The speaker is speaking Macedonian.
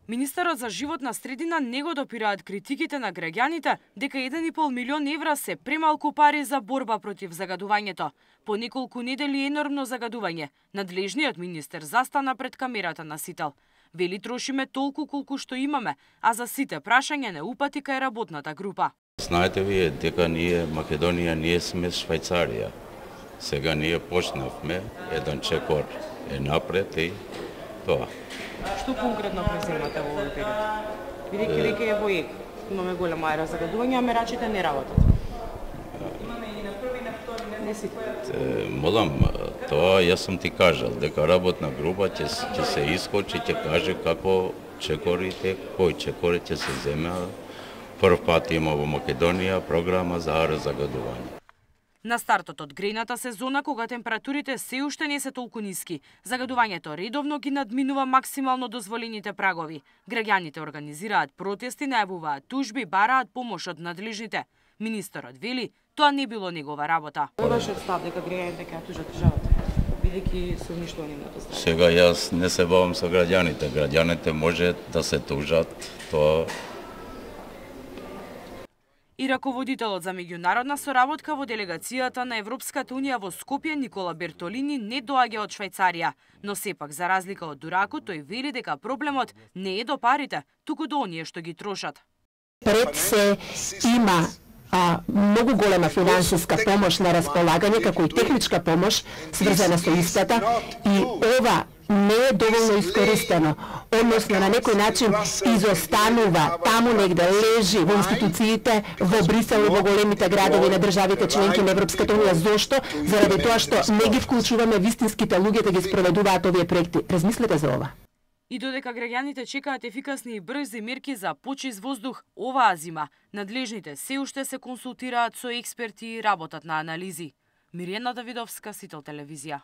Министерот за животна средина не го допираат критиките на граѓаните дека 1,5 милион евра се премалку пари за борба против загадувањето. По неколку недели енормно загадување, надлежниот министер застана пред камерата на Сител. Вели трошиме толку колку што имаме, а за сите прашања не упати кај работната група. Знаете вие дека ние Македонија ние сме Швајцарија. Сега ние почнавме, еден чекор е напред и тоа. Што конкретно преземате во овој период? Бидејќи веќе е во ек, имаме голема ера загадувања, а мерачите не работат. Имаме и на први, на втори, не сите. Молам, тоа јас сум ти кажал, дека работна група ќе се искочи, ќе каже како чекорите, кои чекори ќе се земеа. Прв пат има во Македонија програма за ера загадување. На стартот од грејната сезона, кога температурите се уште не се толку ниски, загадувањето редовно ги надминува максимално дозволените прагови. Граѓаните организираат протести, најавуваат тужби, бараат помош од надлежните. Министерот вели, тоа не било негова работа. Вашиот став дека граѓаните ќе тужат државата, бидејќи се уништува нивното здравје. Сега јас не се бавам со граѓаните. Граѓаните може да се тужат, тоа. И раководителот за меѓународна соработка во делегацијата на Европската унија во Скопје Никола Бертолини не доаѓа од Швајцарија, но сепак за разлика од Дурако тој вели дека проблемот не е до парите, туку до оние што ги трошат. Пред се има многу голема финансиска помош на располагање, како и техничка помош сврзана со исплата, и ова не е доволно искористено, односно на некој начин изостанува, таму негде лежи во институциите, во Брисел и во големите градови на државите членки на Европската унија. Зошто? Заради тоа што не ги вклучуваме вистинските луѓе да ги спроведуваат овие проекти. Размислете за ова. И додека граѓаните чекаат ефикасни и брзи мерки за почист воздух оваа зима, надлежните се уште се консултираат со експерти и работат на анализи. Мирјана Давидовска, Сител телевизија.